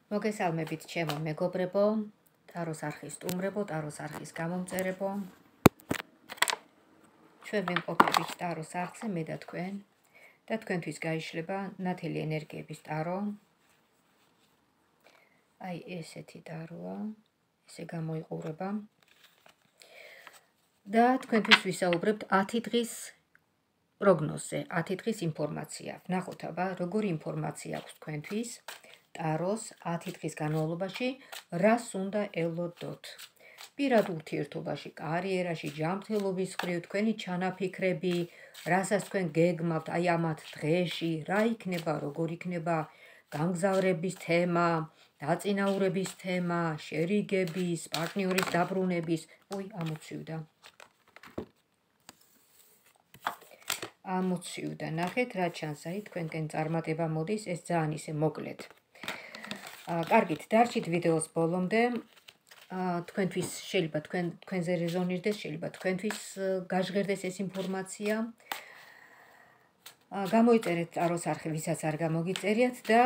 მოგესალმებით ჩემო მეგობრებო, ტაროს არხის სტუმრებო, ტაროს არხის გამომწერებო. ჩვენ ვიმყოფებით ტაროს არხზე, მე და თქვენ. და თქვენთვის გაიშლება ნათელი ენერგიების ტარო. აი ესეთი ტაროა, ესე გამოიყურება. და თქვენთვის ვისაუბრებთ 10 დღის პროგნოზზე, 10 დღის ინფორმაცია. ვნახოთ აბა, როგორი ინფორმაცია აქვს თქვენთვის ტაროს 10 დღის განმავლობაში, რას უნდა ელოდოთ. პირად ურთიერთობაში, კარიერაში, ჯანმრთელობის მხრივ, თქვენი ჩანაფიქრები, რასაც თქვენ გეგმავთ, აი ამ 10 დღეში, რა იქნება, როგორ იქნება, გამგზავრების თემა, დაწინაურების თემა, შერიგების, პარტნიორის დაბრუნების, ამოცივდა, ნახეთ რა ჩანს, აი თქვენკენ წარმატება მოდის, ეს ძალიან ისე მოკლედ. კარგით, დარჩით ვიდეოს ბოლომდე. თქვენთვის შეიძლება თქვენზე რეზონირდეს, შეიძლება თქვენთვის გაჟღერდეს ეს ინფორმაცია. გამოიწერეთ ტაროს არხი, ვისაც არ გამოგიწერიათ და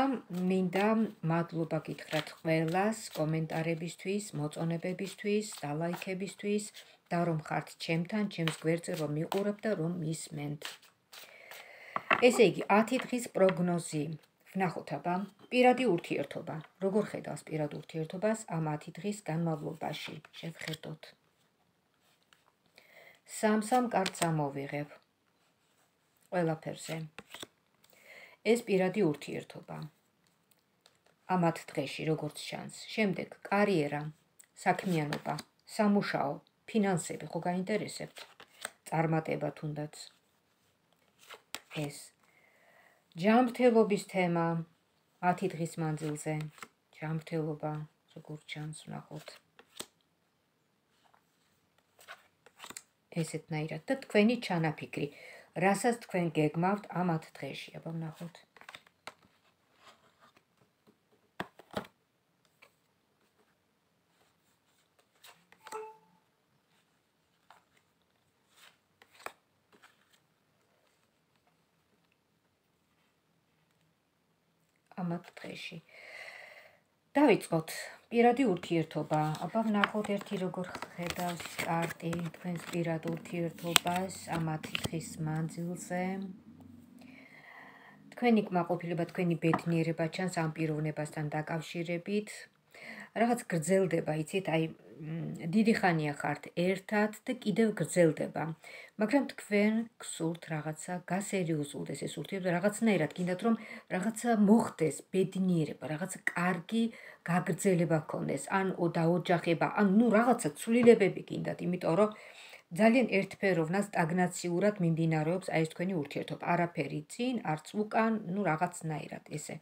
მინდა მადლობა გითხრათ ყველას კომენტარებისთვის, მოწონებებისთვის, დალაიქებისთვის და რომ ხართ ჩემთან, ჩემს გვერდზე რომ მიყურებთ და რომ მისმენთ. ესე იგი, 10 დღის პროგნოზი. ვნახოთ აბა, პირადი ურთიერთობა. როგორ ხედავს პირად ურთიერთობას ამ 10 დღის განმავლობაში? შევხედოთ. სამ კარტს ამოვიღებ. ყველაფერზე. ეს პირადი ურთიერთობა. ამ 10 დღეში როგორც ჩანს. შემდეგ კარიერა, საქმიანობა, სამუშაო, ფინანსები ხო გაინტერესებთ? წარმატება თუნდაც. ეს ჯანმრთელობის თემა 10 დღის მანძილზე. ჯანმრთელობა როგორ ჩანს, ვნახოთ. ესეთნაირად და თქვენი ჩანაფიქრი, რასაც თქვენ გეგმავთ ამ 10 დღეში, აბა ვნახოთ. ამ 10 დღეში. დავიწყოთ პირადი ურთიერთობა. აბა ვნახოთ ერთი როგორ ხედავს კარტი თქვენს პირად ურთიერთობას ამ 10 დღის მანძილზე. თქვენი კმაყოფილება, თქვენი ბედნიერება ჩანს ამ პიროვნებასთან დაკავშირებით. რაღაც გრძელდება, იცით, აი დიდი ხანია ხართ ერთად და კიდევ გრძელდება. მაგრამ თქვენ გსურთ რაღაცა გასერიოზულდეს ეს ურთიერთობა, რაღაცნაირად გინდათ რომ რაღაცა მოხდეს, ბედნიერება, რაღაცა კარგი გაგრძელება გქონდეს, ან დაოჯახება, ან რაღაცა ცვლილებები გინდათ, იმიტომ რომ ძალიან ერთფეროვნად, სტაგნაციურად მიმდინარეობს აი ეს თქვენი ურთიერთობა. არაფერი წინ, არც უკან, რაღაცნაირად ესე.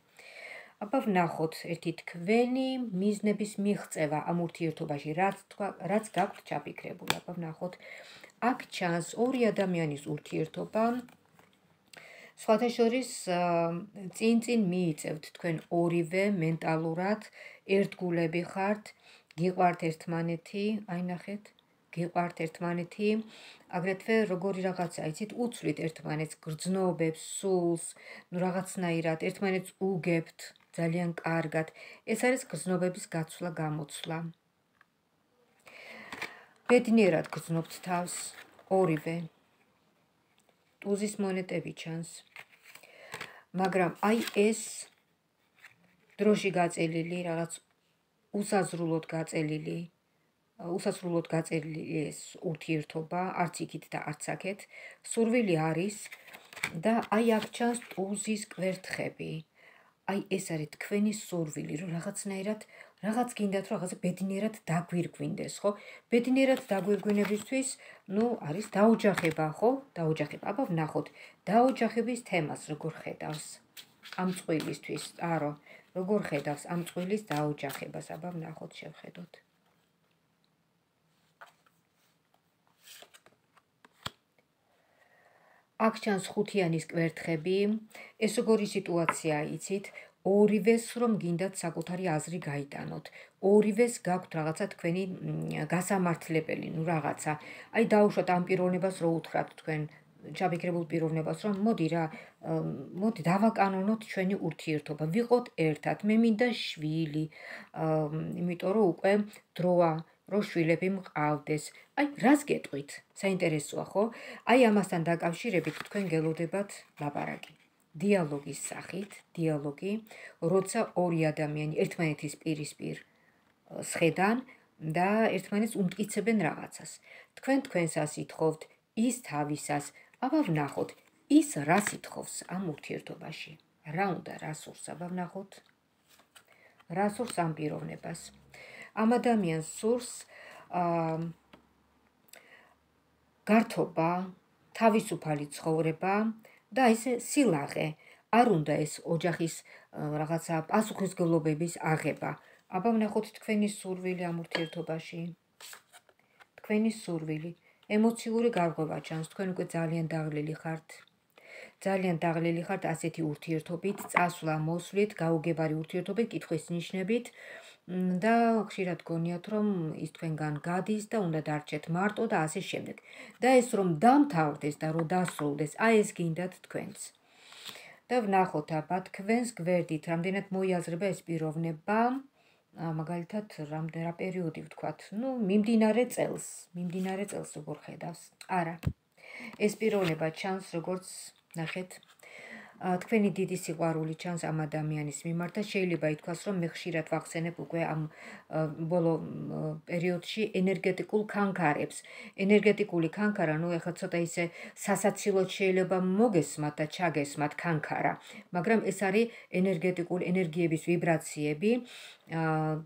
აბა ვნახოთ ერთი თქვენი მიზნების მიღწევა ამ ურთიერთობაში, რაც გაქვთ ჩაფიქრებული. აბა ვნახოთ. აქ ჩანს ორი ადამიანის ურთიერთობა. სხვათა შორის წინ მიიწევთ თქვენ ორივე მენტალურად, ერთგულები ხართ, გიყვართ ერთმანეთი, აი ნახეთ, გიყვართ ერთმანეთი, აგრეთვე როგორი რაღაცა, იცით, უცვლით ერთმანეთს, გრძნობებს, სულს, რაღაცნაირად ერთმანეთს უგებთ, ძალიან კარგად. ეს არის გრძნობების გაცვლა, გამოცვლა. ბედნიერად გრძნობთ თავს, ორივე. ტუზის მონეტები ჩანს. მაგრამ აი ეს დროში გაწელილი, რაღაც უსაზრულად გაწელილი ეს ურთიერთობა, არც იქით და არც აქეთ, სურვილი არის და აი აქ ჩანს ტუზის კვერთხები. აი ეს არის თქვენი სურვილი, რომ რაღაცნაირად რაღაც გინდათ რომ რაღაცა ბედნიერად დაგვირგვინდეს, ხო? ბედნიერად დაგვირგვინებისთვის, არის დაოჯახება, ხო? დაოჯახება. აბა ვნახოთ, დაოჯახების თემას როგორ ხედავს ამ წყვილისთვის, ტარო, როგორ ხედავს ამ წყვილის დაოჯახებას, აბა ვნახოთ, შევხედოთ. აქ ჩანს ხუთიანის კვერთხები. ეს როგორი სიტუაციაა, იცით? ორივეს რომ გინდათ საკუთარი აზრი გაიტანოთ. ორივეს გაქვთ რაღაცა თქვენი გასამართლებელი, რაღაცა. აი დაუშვათ ამ პიროვნებას რო უთხრათ თქვენ ჩაბიქრებულ პიროვნებას, რომ მოდი დავაკანონოთ ჩვენი ურთიერთობა, ვიყოთ ერთად, მე მინდა შვილი, იმიტომ რომ უკვე დროა, რომ შვილები მყავდეს. აი, რას გეტყვით? საინტერესოა, ხო? აი, ამასთან დაკავშირებით თქვენ გელოდებათ ლაპარაკი. დიალოგის სახით, დიალოგი, როცა ორი ადამიანი ერთმანეთის პირისპირ სხედან და ერთმანეთს უმტკიცებენ რაღაცას. თქვენ თქვენსას ითხოვთ, ის თავისას, აბა ვნახოთ, ის რას ითხოვს ამ ურთიერთობაში. რა უნდა, რა სურს, აბა ვნახოთ. რა სურს ამ პიროვნებას. ამ ადამიანს სურს გართობა, თავისუფალი ცხოვრება და ესე სილაღე. არ უნდა ეს ოჯახის რაღაცა პასუხისმგებლობების აღება. აბა ვნახოთ თქვენი სურვილი ამ ურთიერთობაში. თქვენი სურვილი, ემოციური გარღვევა ჩანს, თქვენ უკვე ძალიან დაღლილი ხართ. ძალიან დაღლილი ხართ ასეთი ურთიერთობით, წასვლა, მოსვლით, გაუგებარი ურთიერთობით, კითხვის ნიშნებით და ხშირად გონიათ, რომ ის თქვენგან გადის და უნდა დარჩეთ მარტო და ასე შემდეგ. და ეს რომ დამთავრდეს და რომ დასრულდეს, აი ეს გინდათ თქვენც. და ვნახოთ აბა თქვენს გვერდით, რამდენად მოიაზრება ეს პიროვნება, მაგალითად, რა პერიოდი ვთქვათ, მიმდინარე წელს როგორ ხედავს. არა. ეს პიროვნება ჩანს, როგორც ნახეთ, თქვენი დიდი სიყვარული ჩანს ამ ადამიანის მიმართ და შეიძლება ითქვას, რომ მე ხშირად ვახსენებ უკვე ამ ბოლო პერიოდში ენერგეტიკულ ქანქარებს. ენერგეტიკული ქანქარა, ეხლა ცოტა ისე სასაცილოდ შეიძლება მოგესმათ და ჩაგესმათ ქანქარა, მაგრამ ეს არის ენერგეტიკული ენერგიების ვიბრაციები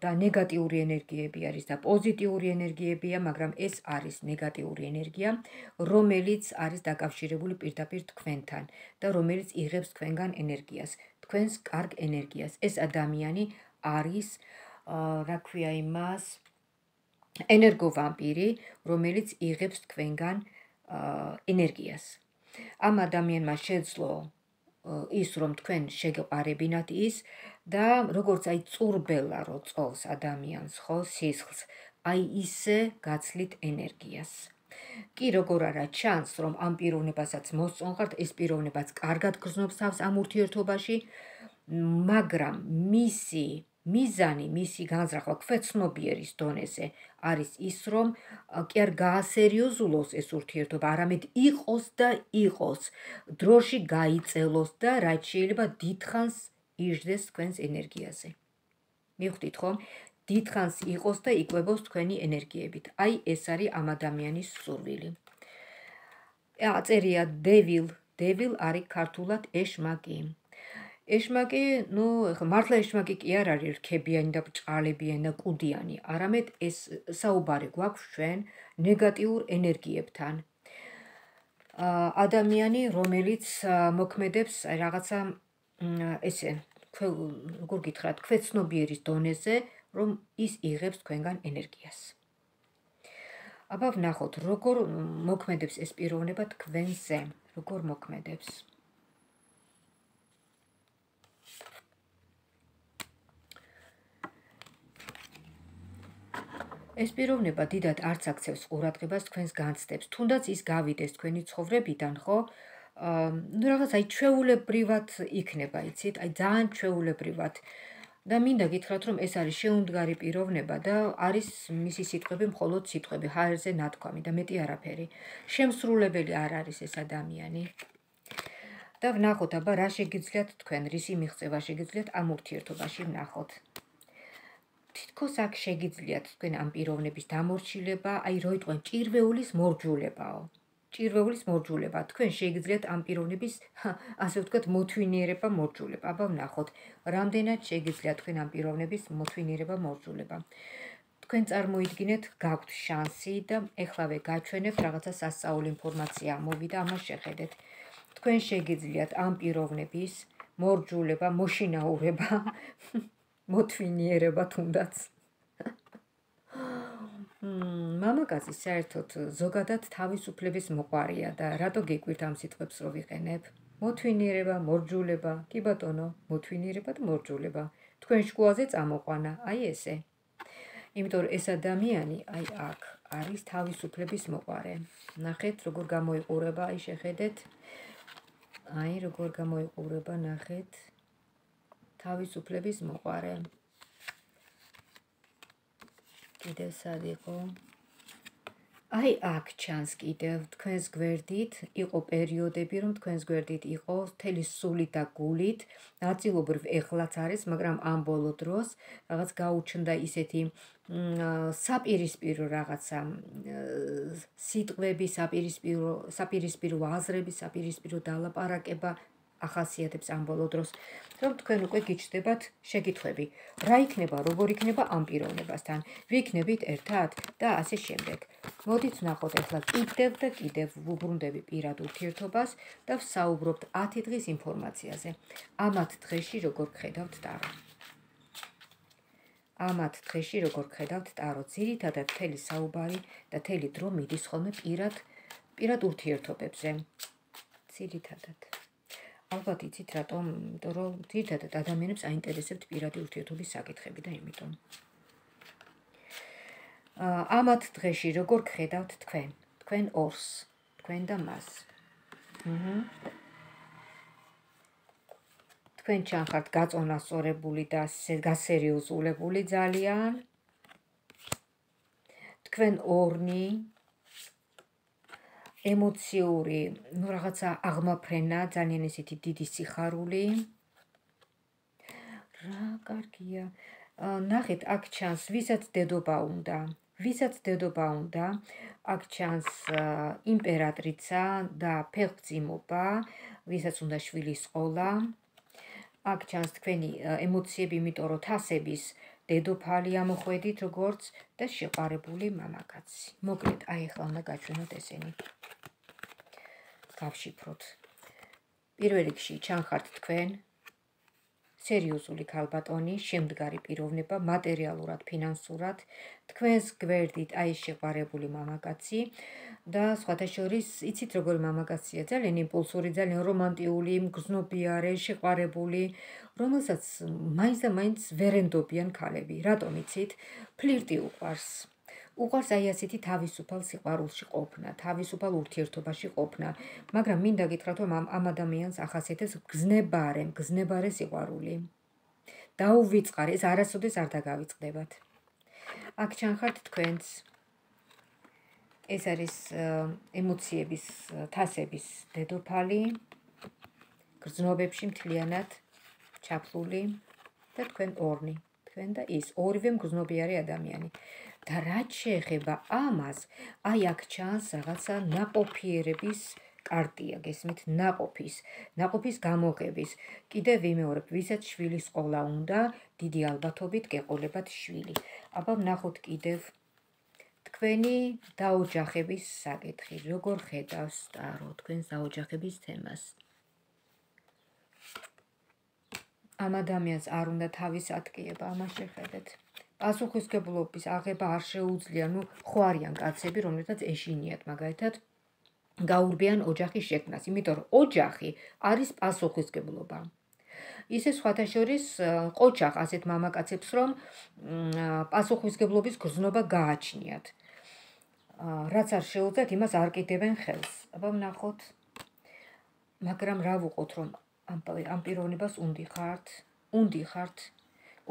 და ნეგატიური ენერგიები არის და პოზიტიური ენერგიებია, მაგრამ ეს არის ნეგატიური ენერგია, რომელიც არის დაკავშირებული პირდაპირ თქვენთან და რომელიც იღებს თქვენგან ენერგიას, თქვენს კარგ ენერგიას. ეს ადამიანი არის, რა ქვია იმას, ენერგოვამპირი, რომელიც იღებს თქვენგან ენერგიას. ამ ადამიანმა შეძლო ის, რომ თქვენ შეგეყარებინათ ის და როგორც აი წურბელა რო წოვს ადამიანს, ხო, სისხლს, აი ისე გაცლით ენერგიას. კი როგორ არა ჩანს, რომ ამ პიროვნებასაც მოსწონხართ, ეს პიროვნებაც კარგად გრძნობს თავს ამ ურთიერთობაში, მაგრამ მისი მიზანი, მისი განზრახვა ქვეცნობიერის დონეზე არის ის, რომ კი არ გაასერიოზულოს ეს ურთიერთობა, არამედ იყოს და იყოს, დროში გაიწელოს და რაც შეიძლება დიდხანს იждდეს თქვენს ენერგიაზე. მივხვდით ხომ? დიდხანს იყოს და იკვებოს თქვენი ენერგიებით. აი ეს არის ამ ადამიანის სურვილი. აწერია devil არის ქართულად ეშმაკი. ეშმაკი, მართლა ეშმაკი კი არ არის რქებიანი და ბრჭყალებიანი და კუდიანი, არამედ ეს საუბარი გვაქვს ჩვენ ნეგატიურ ენერგიებთან. ადამიანი, რომელიც მოქმედებს რაღაცა ესე, როგორ გითხრათ, ქვეცნობიერის დონეზე, რომ ის იღებს თქვენგან ენერგიას. აბა ვნახოთ, როგორ მოქმედებს ეს პიროვნება თქვენზე, როგორ მოქმედებს. ეს პიროვნება დიდად არც აქცევს ყურადღებას თქვენს განცდებს, თუნდაც ის გავიდეს თქვენი ცხოვრებიდან, ხო? რაღაც აი ჩვეულებრივად იქნება, იცით, აი ძალიან ჩვეულებრივად. და მინდა გითხრათ, რომ ეს არის შეუმდგარი პიროვნება და არის მისი სიტყვები მხოლოდ სიტყვები, ჰაერზე ნათქვამი და მეტი არაფერი. შემსრულებელი არ არის ეს ადამიანი. და ვნახოთ, აბა რა შეგიძლიათ თქვენ, რისი მიღწევა შეგიძლიათ ამ ურთიერთობაში ვნახოთ. თითქოს აქ შეგიძლიათ თქვენ ამ პიროვნების დამორჩილება, აი რო იტყვენ ჭირვეულის მორჯულებაო. ჭირვეულის მორჯულება, თქვენ შეგიძლიათ ამ პიროვნების, ასე ვთქვათ, მოთვინიერება, მორჯულება. აბა ვნახოთ, რამდენად შეგიძლიათ თქვენ ამ პიროვნების მოთვინიერება, მორჯულება. თქვენ წარმოიდგინეთ, გაქვთ შანსი და ეხლავე გაჩვენებთ რაღაცა სასწაული ინფორმაცია მოვიდა, ამას შეხედეთ. თქვენ შეგიძლიათ ამ პიროვნების მორჯულება, მოშინაურება, მოთვინიერება თუნდაც. მამაკაცი საერთოდ ზოგადად თავისუფლების მოყვარია და რატო გიკვირთ ამ სიტყვებს რო ვიყენებ? მოთვინიერება, მორჯულება, კი ბატონო, მოთვინიერება და მორჯულება. თქვენ შკუაზე წამოყვანა, აი ესე. იმიტომ რომ ეს ადამიანი, აი აქ არის თავისუფლების მოყარე. ნახეთ, როგორ გამოიყურება, აი შეხედეთ. აი, როგორ გამოიყურება, ნახეთ. თავისუფლების მოყარე. კიდევ სად იყო? აი აქ ჩანს კიდევ თქვენს გვერდით იყო პერიოდები, რომ თქვენს გვერდით იყო მთელი სულით და გულით, ნაწილობრივ ეხლაც არის, მაგრამ ამ ბოლო დროს რაღაც გაუჩნდა ისეთი საპირისპირო რაღაცა სიტყვები, საპირისპირო აზრები, საპირისპირო დალაპარაკება ახასიათებს ამ ბოლო დროს, რომ თქვენ უკვე გიჩნდებათ შეკითხვები, რა იქნება, როგორ იქნება ამ პიროვნებასთან, ვიქნებით ერთად და ასე შემდეგ. მოდით ვნახოთ ახლა კიდევ და კიდევ ვუბრუნდები პირად ურთიერთობას და ვსაუბრობთ 10 დღის ინფორმაციაზე. ამათ დღეში როგორ გხედავთ ტარო. ამათ დღეში როგორ გხედავთ ტარო, ძირითადად მთელი საუბარი და მთელი დრო მიდის ხოლმე პირად ურთიერთობებზე. ძირითადად. ალბათ იცით რატომ, იმიტომ რომ ძირითადად ადამიანებს აინტერესებთ პირადი ურთიერთობის საკითხები და იმიტომ. ამათ დღეში როგორ გხედავთ თქვენ ორს, თქვენ და მას. თქვენ ჩანხართ გაწონასწორებული და გასერიოზულებული ძალიან. თქვენ ორნი ემოციური, რაღაცა აღმაფრენა, ძალიან ესეთი დიდი სიხარული. რა კარგია. ნახეთ, აქ ჩანს, ვისაც დედობა უნდა. ვისაც დედობა უნდა, აქ ჩანს იმპერატრიცა და ფეხმძიმობა, ვისაც უნდა შვილის ყოლა. აქ ჩანს თქვენი ემოციები, იმიტომ რომ თასების დედოფალი ამოხვედით როგორც და შეყარებული მამაკაცი. მოკლედ, აი ახლა უნდა გაჩვენოთ ესენი. გავშიფროთ. პირველ რიგში ჩანხართ თქვენ სერიოზული ქალბატონი, შემდგარი პიროვნება, მატერიალურად, ფინანსურად, თქვენს გვერდით აი შეყარებული მამაკაცი და სხვათა შორის იცით როგორი მამაკაცია, ძალიან იმპულსური, ძალიან რომანტიული, მგრძნობიარე, შეყარებული, რომელსაც მაინც და მაინც ვერ ენდობიან ქალები. რატომ იცით? ფლირტი უყვარს. უყვარს აი ასეთი თავისუფალ სიყვარულში ყოფნა, თავისუფალ ურთიერთობაში ყოფნა, მაგრამ მინდა გითხრათ, რომ ამ ადამიანს ახასიათებს გზნებარე სიყვარული. დაუვიწყარი, ეს არასოდეს არ დაგავიწყდებათ. აქ ჩანხართ თქვენს. ეს არის ემოციების, თასების დედოფალი, გრძნობებში მთლიანად ჩაფლული და თქვენ ორნი, თქვენ და ის, ორივე მგრძნობიარე ადამიანი. და რაც შეეხება ამას, აი აქ ჩანს რაღაცა ნაყოფიერების კარტია, გესმით, ნაყოფის გამოღების. კიდევ ვიმეორებ, ვისაც შვილის ყოლა უნდა, დიდი ალბათობით გეყოლებათ შვილი. აბა ვნახოთ კიდევ თქვენი დაოჯახების საკითხი, როგორ ხედავს ტარო თქვენს დაოჯახების თემას. ამ ადამიანს არ უნდა თავის ატკიება, ამას შეხედეთ. პასუხისმგებლობის აღება არ შეუძლია, ხო არიან კაცები, რომლებსაც ეშინიათ მაგალითად გაურბიან ოჯახის შექმნას, იმიტომ რომ ოჯახი არის პასუხისმგებლობა. ისე სხვათა შორის ყოჩახ ასეთ მამაკაცებს, რომ პასუხისმგებლობის გრძნობა გააჩნიათ. რაც არ შეუძლიათ, იმას არ კიდევენ ხელს. აბა ვნახოთ. მაგრამ რა ვუყოთ, რომ ამ პიროვნებას უნდი ხართ,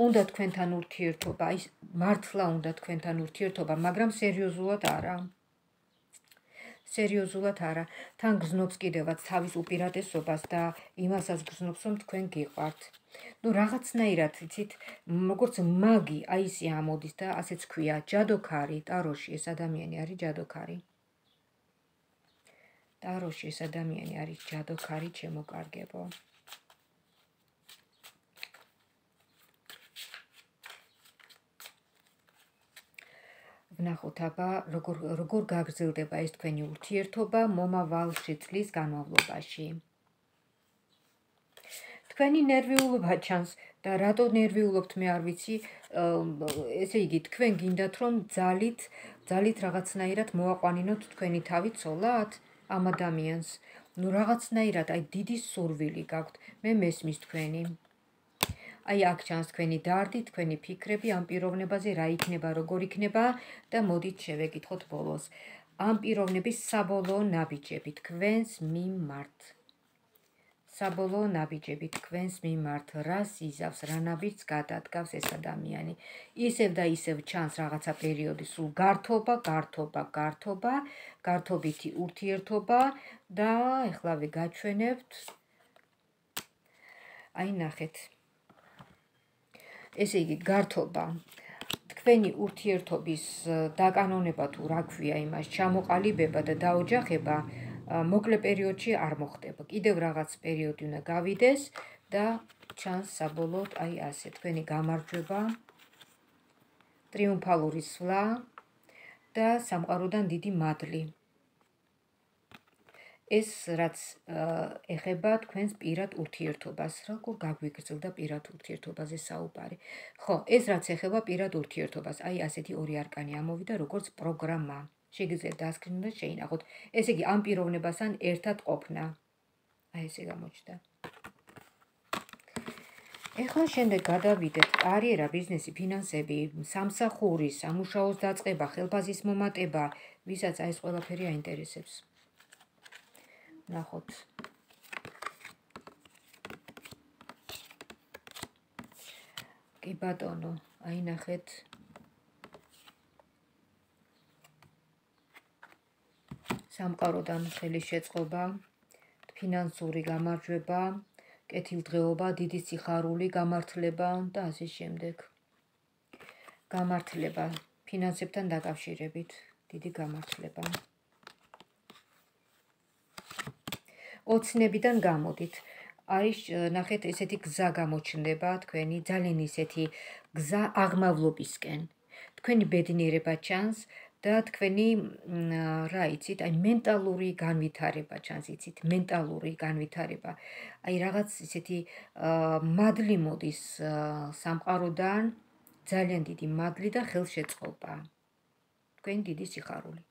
უნდა თქვენთან ურთიერთობა, ის მართლა უნდა თქვენთან ურთიერთობა, მაგრამ სერიოზულად არა. სერიოზულად არა. თან გზნობს კიდევაც თავის უპირატესობას და იმასაც გზნობს, რომ თქვენ გიყვართ. რაღაცნაირად, იცით, როგორც მაგი, აი ისე ამოდის და ასეც ქვია, ჯადოქარი, ტაროში ეს ადამიანი არის ჯადოქარი. ტაროში ეს ადამიანი არის ჯადოქარი, ჩემო კარგებო. ვნახოთ აბა როგორ გაგრძელდება ეს თქვენი ურთიერთობა მომავალში წლის განმავლობაში. თქვენი ნერვიულობა ჩანს და რატო ნერვიულობთ მე არ ვიცი, ესე იგი თქვენ გინდათ რომ ძალით რაღაცნაირად მოაყვანინოთ თქვენი თავი ცოლად ამ ადამიანს. რაღაცნაირად აი დიდი სურვილი გაქვთ, მე მესმის თქვენი. აი აქ ჩანს თქვენი დარდი, თქვენი ფიქრები ამ პიროვნებაზე, რა იქნება, როგორ იქნება და მოდით შევეკითხოთ ბოლოს. ამ პიროვნების საბოლოო ნაბიჯები თქვენს მიმართ. საბოლოო ნაბიჯები თქვენს მიმართ, რას იზავს, რა ნაბიჯს გადადგავს ეს ადამიანი. ისევ და ისევ ჩანს რაღაცა პერიოდი, სულ გართობა, გართობითი ურთიერთობა და ეხლა გაჩვენებთ. აი ნახეთ. ესე იგი, გართობა. თქვენი ურთიერთობის დაკანონება თუ რა ქვია იმას, ჩამოყალიბება და დაოჯახება მოკლე პერიოდში არ მოხდება. კიდევ რაღაც პერიოდი უნდა გავიდეს და ჩანს საბოლოოდ აი ასე თქვენი გამარჯვება, ტრიუმფალური სვლა და სამყაროდან დიდი მადლი. ეს რაც ეხება თქვენს პირად ურთიერთობას, როგორ გაგვიგრძელდა პირად ურთიერთობაზე საუბარი. ხო, ეს რაც ეხება პირად ურთიერთობას, აი ასეთი ორი არკანი ამოვიდა როგორც პროგრამა. შეგიძლიათ დასკრინოთ და შეინახოთ. ესე იგი, ამ პიროვნებასთან ერთად ყოფნა. აი ესე გამოჩნდა. ეხლა შემდეგ გადავიდეთ კარიერა, ბიზნესი, ფინანსები, სამსახური, სამუშაოს დაწყება, ხელფასის მომატება, ვისაც აი ეს ყველაფერი აინტერესებს. ნახოთ. კი ბატონო, აი ნახეთ. სამყაროდან ხელის შეწყობა, ფინანსური გამარჯვება, კეთილდღეობა, დიდი სიხარული, გამართლება და ასე შემდეგ. გამართლება, ფინანსებთან დაკავშირებით, დიდი გამართლება. ოცნებიდან გამოდით. არის ნახეთ ესეთი გზა გამოჩნდება თქვენი, ძალიან ისეთი გზა აღმავლობისკენ. თქვენი ბედნიერება ჩანს და თქვენი რა იცით, აი მენტალური განვითარება ჩანს, იცით, მენტალური განვითარება. აი რაღაც ისეთი მადლი მოდის სამყაროდან, ძალიან დიდი მადლი და ხელშეწყობა. თქვენი დიდი სიხარული.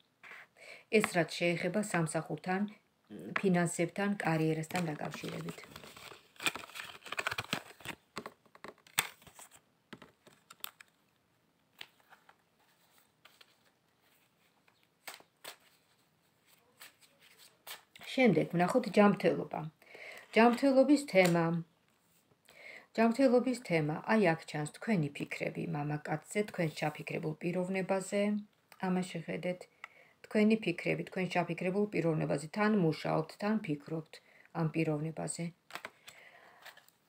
ეს რაც შეეხება სამსახურთან, ფინანსებთან, კარიერასთან დაკავშირებით. შემდეგ ვნახოთ ჯანმრთელობა. ჯანმრთელობის თემა. ჯანმრთელობის თემა. აი აქ ჩანს თქვენი ფიქრები მამაკაცზე, თქვენს ჩაფიქრებულ პიროვნებაზე. ამას შეხედეთ. თქვენი ფიქრები, თქვენ ჩაფიქრებულ პიროვნებაზე, თან მუშაობთ, თან ფიქრობთ ამ პიროვნებაზე.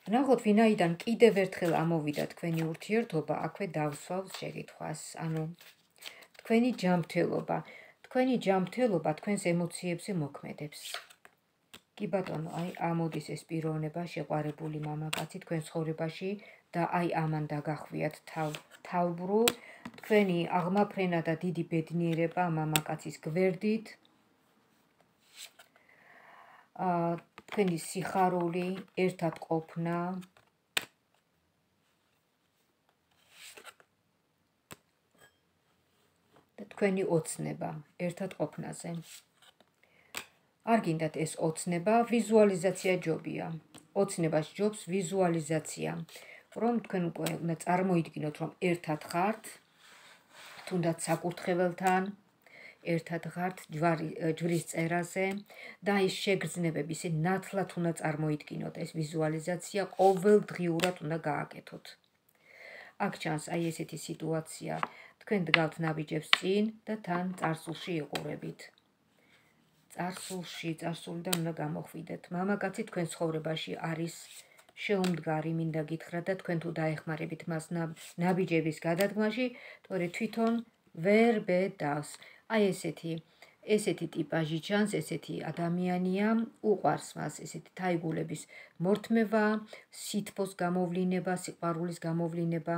ვნახოთ, ვინაიდან კიდევ ერთხელ ამოვიდა თქვენი ურთიერთობა, აქვე დავსვავ შეკითხვას, ანუ თქვენი ჯანმრთელობა. თქვენი ჯანმრთელობა თქვენს ემოციებზე მოქმედებს. კი ბატონო, აი ამოდის ეს პიროვნება, შეყვარებული მამაკაცი თქვენ ცხოვრებაში და აი ამან დაგახვიათ თავბრუ. თქვენი აღმაფრენა და დიდი ბედნიერება მამაკაცის გვერდით. თქვენი სიხარული, ერთად ყოფნა. და თქვენი ოცნება, ერთად ყოფნაზე. არ გინდათ ეს ოცნება, ვიზუალიზაცია ჯობია. ოცნებას ჯობს ვიზუალიზაცია, რომ თქვენ უნდა წარმოიდგინოთ, რომ ერთად ხართ, თუნდაც საკურთხეველთან, ერთად ხართ ჯვრის წერაზე და ის შეგრძნებები ისე ნათლად უნდა წარმოიდგინოთ, ეს ვიზუალიზაცია ყოველდღიურად უნდა გააკეთოთ. აქ ჩანს აი ესეთი სიტუაცია, თქვენ დგავთ ნაბიჯებს წინ და თან წარსულში იყურებით. წარსულიდან უნდა გამოხვიდეთ. მამაკაცი თქვენ ცხოვრებაში არის შეუმდგარი, მინდა გითხრათ და თქვენ თუ დაეხმარებით მას ნაბიჯების გადადგმაში, თორე თვითონ ვერ ბედავს. აი ესეთი ტიპაჟი ჩანს, ესეთი ადამიანია, უყვარს მას ესეთი თაიგულების მორთმევა, სითბოს გამოვლინება, სიყვარულის გამოვლინება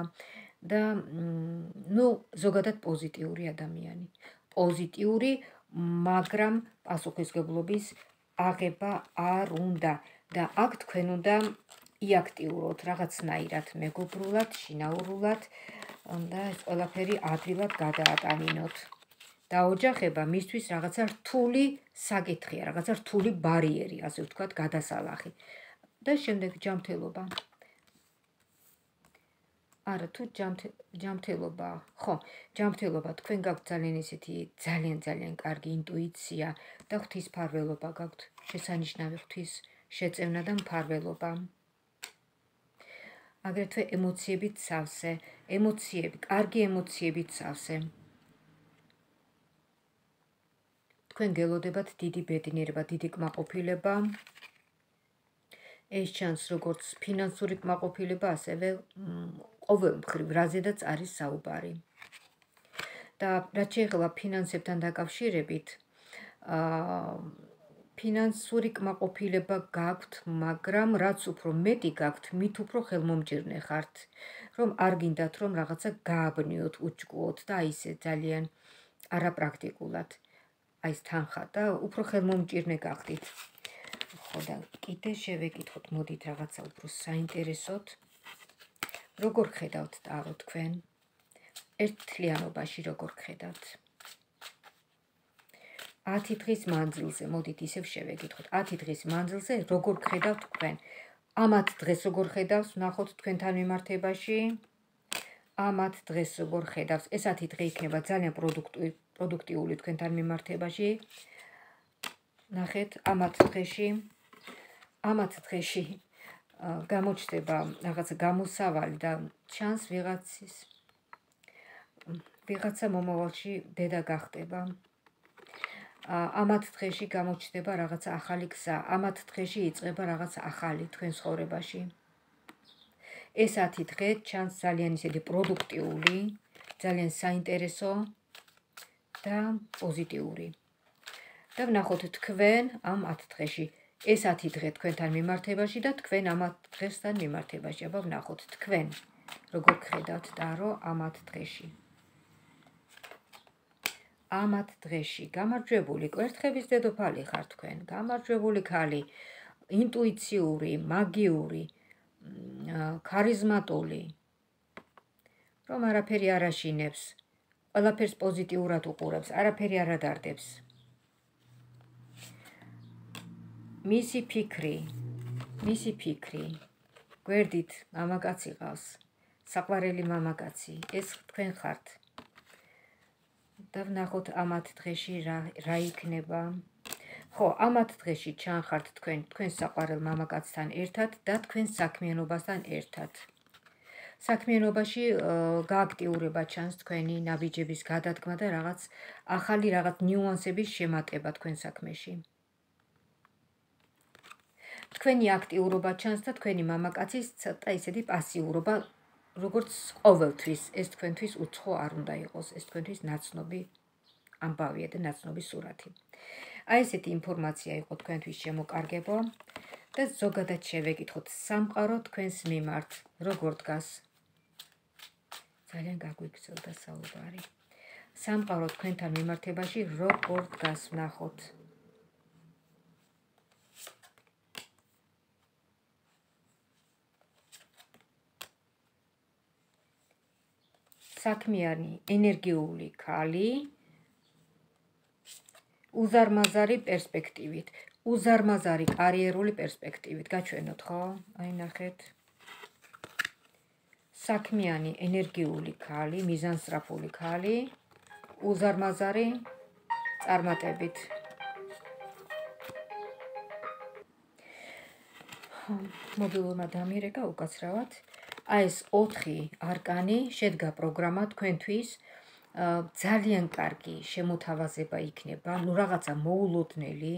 და ზოგადად პოზიტიური ადამიანი. პოზიტიური, მაგრამ პასუხისმგებლობის აღება არ უნდა და აქ თქვენ უნდა იაქტიუროთ რაღაცნაირად, მეგობრულად, შინაურულად და ეს ყველაფერი ადვილად გადაატანინოთ. დაოჯახება მისთვის რაღაცა რთული საკითხია, რაღაცა რთული ბარიერი, ასე ვთქვათ, გადასალახი. და შემდეგ ჯანმრთელობა. არა თუ ჯანმრთელობა, ხო, ჯანმრთელობა თქვენ გაქვთ ძალიან ისეთი ძალიან კარგი ინტუიცია და ღვთისმფარველობა გაქვთ, შესანიშნავი ღვთის შეწევნა და მფარველობა. აგრეთვე ემოციებით სავსე, კარგი ემოციებით სავსე. თქვენ გელოდებათ დიდი ბედნიერება, დიდი კმაყოფილება. ეს ჩანს როგორც ფინანსური კმაყოფილება, ასევე ყოველ მხრივ, რაზედაც არის საუბარი. და რაც შეეხება ფინანსებთან დაკავშირებით, ფინანსური კმაყოფილება გაქვთ, მაგრამ რაც უფრო მეტი გაქვთ, მით უფრო ხელმომჭირნე ხართ, რომ არ გინდათ რომ რაღაცა გააბნიოთ, უჭკუოთ და აი ესე ძალიან არაპრაქტიკულად. აი ეს თანხა და უფრო ხელმომჭირნე გახდით. ხო და კიდე შევეკითხოთ, მოდით რაღაცა უფრო საინტერესოდ. როგორ ხედავთ ტარო თქვენ? ერთთლიანობაში როგორ ხედავთ? 10 დღის მანძილზე, მოდით ისევ შევეკითხოთ. 10 დღის მანძილზე როგორ ხედავთ თქვენ? ამათ დღეს როგორ ხედავს, ნახოთ თქვენთან მიმართებაში. ამათ დღეს როგორ ხედავს? ეს 10 დღე იქნება ძალიან პროდუქტიული თქვენთან მიმართებაში. ნახეთ, ამათ დღეში გამოჩნდება რაღაცა გამოსავალი და ჩანს ვიღაცა მომავალში დედა გახდება. ამათ დღეში გამოჩნდება რაღაცა ახალი გზა, ამათ დღეში იწყება რაღაცა ახალი თქვენ ცხოვრებაში. ეს 10 დღე ჩანს ძალიან ისეთი პროდუქტიული, ძალიან საინტერესო და პოზიტიური. და ვნახოთ თქვენ ამ 10 დღეში. ეს 10 დღე თქვენთან მიმართებაში და თქვენ ამ 10 დღესთან მიმართებაში. აბა ვნახოთ თქვენ როგორ ხედავთ ტარო ამ 10 დღეში. ამ 10 დღეში გამარჯვებული კვერთხების დედოფალი ხარ თქვენ, გამარჯვებული ქალი, ინტუიციური, მაგიური, ქარიზმატული, რომ არაფერი არ აშინებს, ყველაფერს პოზიტიურად უყურებს, არაფერი არ ადარდებს. მისი ფიქრი, გვერდით მამაკაცი ყავს, საყვარელი მამაკაცი, ეს თქვენ ხართ. და ვნახოთ ამ 10 დღეში რა იქნება. ხო, ამ 10 დღეში ჩანხართ თქვენ საყვარელ მამაკაცთან ერთად და თქვენ საქმიანობასთან ერთად. საქმიანობაში გააქტიურება ჩანს თქვენი ნაბიჯების გადადგმა და რაღაც ახალი ნიუანსების შემატება თქვენ საქმეში. თქვენი აქტიურობა ჩანს და თქვენი მამაკაცის ცოტა ისეთი პასიურობა, როგორც ყოველთვის, ეს თქვენთვის უცხო არ უნდა იყოს, ეს თქვენთვის ნაცნობი ამბავია და ნაცნობი სურათი. აი ესეთი ინფორმაცია იყო თქვენთვის შემოკარგებო და ზოგადად შევეკითხოთ სამყარო თქვენს მიმართ როგორ დგას. ძალიან გაგვიგრძელდა საუბარი. სამყარო თქვენთან მიმართებაში როგორ დგას, ვნახოთ. საქმიანი, ენერგიული ქალი, უზარმაზარი პერსპექტივით, უზარმაზარი კარიერული პერსპექტივით. გაჩვენოთ, ხო? აი ნახეთ. საქმიანი, ენერგიული ქალი, მიზანსწრაფული ქალი, უზარმაზარი წარმატებით. მობილურმა დამირეკა უკაცრავად. აი ეს 4 არკანი შედგა პროგრამა თქვენთვის. ძალიან კარგი შემოთავაზება იქნება, რაღაცა მოულოდნელი,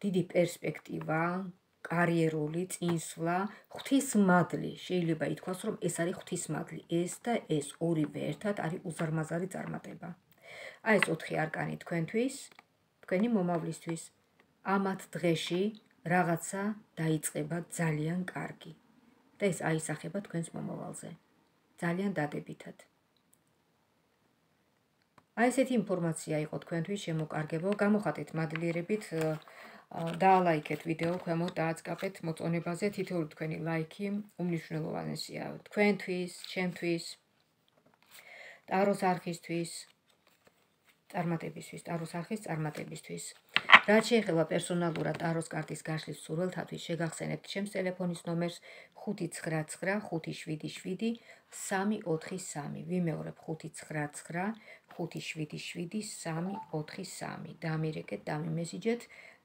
დიდი პერსპექტივა, კარიერული წინსვლა, ღვთისმადლი. შეიძლება ითქვას, რომ ეს არის ღვთისმადლი. ეს და ეს ორივე ერთად არის უზარმაზარი წარმატება. აი ეს 4 არკანი თქვენთვის, თქვენი მომავლისთვის. ამ 10 დღეში რაღაცა დაიწყება ძალიან კარგი. და ეს აისახება თქვენს მომავალზე. ძალიან დადებითად. აი ესეთი ინფორმაცია იყო თქვენთვის შემოკარგებო. გამოხატეთ მადლიერებით, დაალაიქეთ ვიდეო ქვემოთ, დააწყაპეთ მოწონებაზე. თითოეული თქვენი ლაიქი უმნიშვნელოვანესია თქვენთვის, ჩემთვის, ტაროს არხისთვის. წარმატებისთვის, ტაროს არხის წარმატებისთვის. რაც შეეხება პერსონალურად ტაროს კარტის გაშლის მსურველთათვის, შეგახსენებთ ჩემს ტელეფონის ნომერს 599577343. ვიმეორებ 599577343. დამირეკეთ, დამიმესიჯეთ,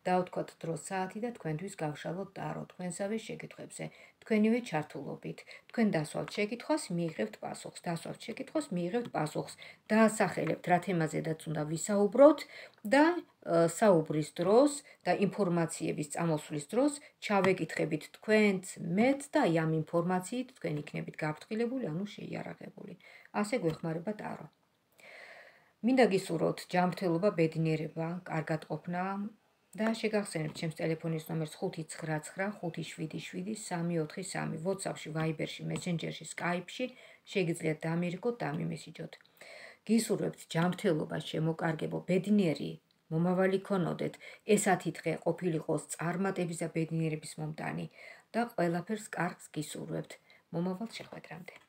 დავთქვათ დრო საათი და თქვენთვის გავშალოთ ტარო თქვენსავე შეკითხვებზე. თქვენივე ჩართულობით. თქვენ დასვალთ შეკითხვას, მიიღებთ პასუხს. დასვალთ შეკითხვას, მიიღებთ პასუხს. დაასახელებთ რა თემაზედაც უნდა ვისაუბროთ და საუბრის დროს და ინფორმაციების წამოსვლის დროს ჩავეკითხებით თქვენც, მეც და აი ამ ინფორმაციით თქვენ იქნებით გაფრთხილებული, ანუ შეიარაღებული. ასე გვეხმარება ტარო. მინდა გისურვოთ ჯანმრთელობა, ბედნიერება, კარგად ყოფნა და შეგახსენებთ ჩემს ტელეფონის ნომერს 599577343. WhatsApp-ში, Viber-ში, Messenger-ში, Skype-ში შეგიძლიათ დამირეკოთ, დამიმესიჯოთ. გისურვებთ ჯანმრთელობა, შემოკარგებო, ბედნიერი მომავალი ქონოდეთ, ეს 10 დღე ყოფილიყოს წარმატების და ბედნიერების მომტანი და ყველაფერს კარგს გისურვებთ. მომავალ შეხვედრამდე.